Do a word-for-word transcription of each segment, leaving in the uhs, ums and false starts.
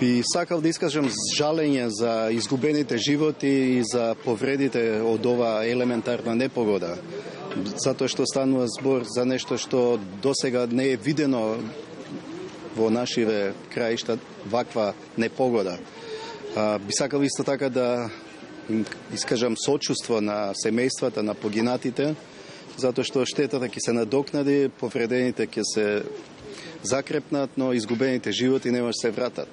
Би сакал да искажам жалење за изгубените животи и за повредите од оваа елементарна непогода. Затоа што станува збор за нешто што досега не е видено во нашиве краишта, ваква непогода. А, би сакал исто така да им искажам сочувство на семејствата на погинатите, затоа што штетата ќе се надокнади, повредените ќе се закрепнат, но изгубените животи не може се вратат.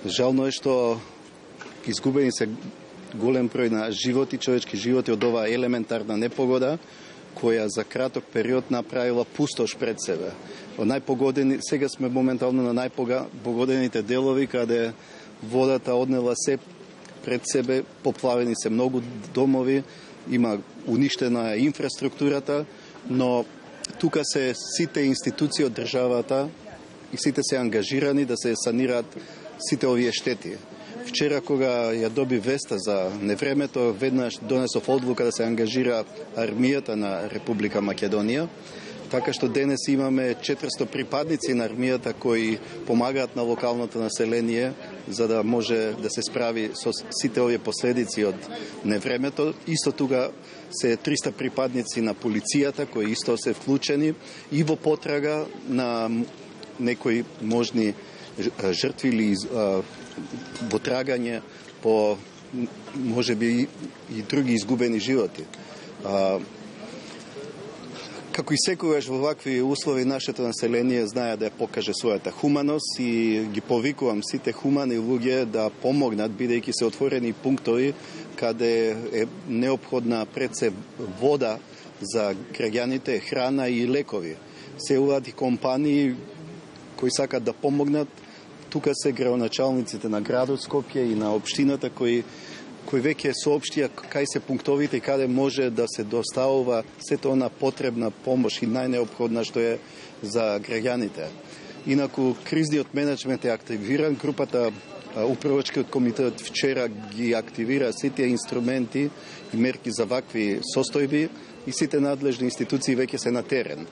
Жално е што изгубени се голем број на животи, човечки животи од оваа елементарна непогода, која за краток период направила пустош пред себе. Од најпогодени, сега сме моментално на најпогодените делови, каде водата однела се пред себе, поплавени се многу домови, има уништена инфраструктурата, но тука се сите институции од државата и сите се ангажирани да се санираат сите овие штети. Вчера, кога ја доби веста за невремето, веднаш донесов одлука да се ангажира армијата на Република Македонија, така што денес имаме четиристо припадници на армијата кои помагаат на локалното население за да може да се справи со сите овие последици од невремето. Исто тука се триста припадници на полицијата кои исто се вклучени и во потрага на некои можни жртви или во трагање по можеби и други изгубени животи. Како и секогаш во вакви услови, нашето население знае да ја покаже својата хуманост и ги повикувам сите хумани луѓе да помогнат, бидејќи се отворени пунктови каде е неопходна пред се вода за граѓаните, храна и лекови. Се уват и компании кои сакат да помогнат. Тука се градоначалниците на градот Скопје и на општината кои кои веќе соопштија кај се пунктовите и каде може да се доставува сето она потребна помош и најнеопходна што е за граѓаните. Инаку кризниот менеджмент е активиран, групата управачкиот комитет вчера ги активира сите инструменти и мерки за вакви состојби и сите надлежни институции веќе се на терен.